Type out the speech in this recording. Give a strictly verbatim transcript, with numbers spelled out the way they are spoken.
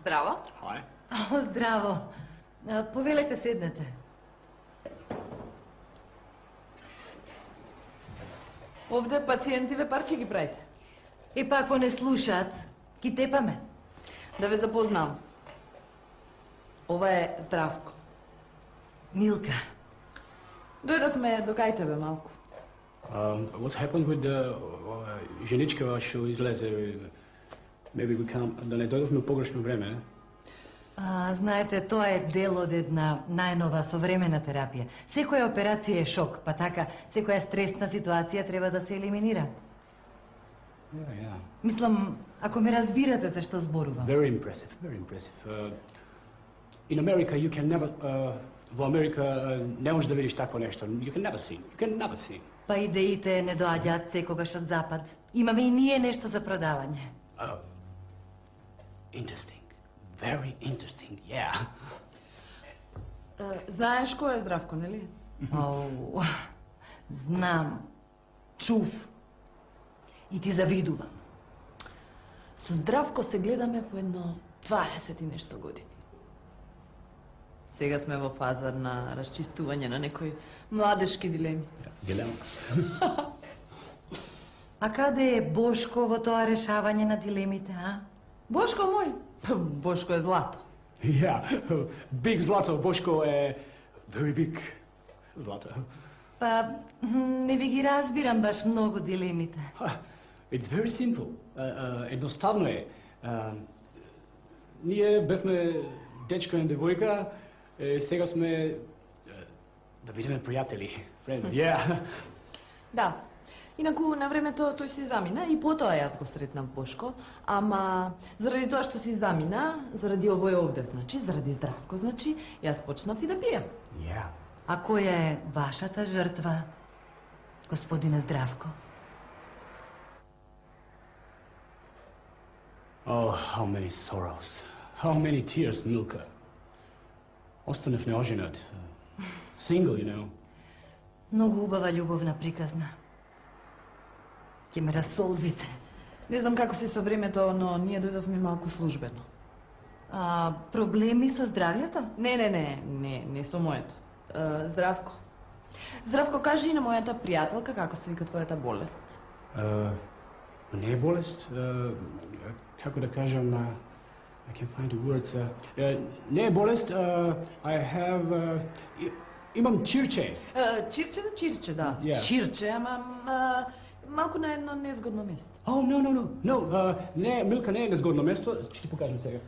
Здраво. Hi. О, здраво. Повелете, седнете. Овде пациентиве парче ги правите. И па ако не слушаат, ги тепаме. Да ве запознам. Ова е Здравко. Милка. Дојдовме до кај тебе малку. Um, what's happened with the uh, женичка што излезе? Maybe we can't... Да не дојдовме у погрешно време. А, знаете, тоа е дел од една најнова современа терапија. Секоја операција е шок, па така, секоја стресна ситуација треба да се елиминира. Yeah, yeah. Мислам, ако ме разбирате за што зборувам. Very impressive, very impressive. Uh, in America you can never... Uh, во Америка uh, не можеш да видиш такво нешто. You can never see. You can never see. Па идеите не доаѓаат секогаш од запад. Имаме и ние нешто за продавање. Uh, interesting. Very interesting, yeah. Uh, знаеш кој е Здравко, нели? Ау, знам. Чув. И ти завидувам. Со Здравко се гледаме по едно дваесет и нешто години. Сега сме во фаза на расчистување на некои младешки дилеми. Дилемас. А каде е Бошко во тоа решавање на дилемите, а? Бошко мој? Бошко е злато. Yeah, big Zlato. Бошко е very big Zlato. Па, не ви ги разбирам баш многу дилемите. It's very simple. Uh, uh, едноставно е. Uh, ние бевме дечко и девојка, е, сега сме uh, да бидеме пријатели. Friends, yeah. Да. Инаку, на времето тој си замина и потоа јас го сретнав Бошко, ама заради тоа што си замина, заради овој овде, значи, заради Здравко, значи, јас почнав и да пием. Yeah. А која е вашата жртва, господине Здравко? Oh, how many sorrows. How many tears, Milka. Останав неоженет. Single, you know. Многу убава љубовна приказна. Ќе ме расолзите. Не знам како си со времето, но ние дојдовме малку службено. А, проблеми со здравјето? Не, не, не, не, не со моето. Uh, Здравко. Здравко, кажи и на мојата пријателка како се вика твојата болест. Uh, не е болест. Uh, како да кажам на... I can't find the words. Uh, uh, не е болест. Uh, I have... Uh, и, имам чирче. Uh, чирче да чирче, да. Yeah. Чирче, ама... Uh, малку на едно незгодно место. Oh, no, no, no. No, uh, не, Милка не е незгодно место. Ќе ти покажам сега.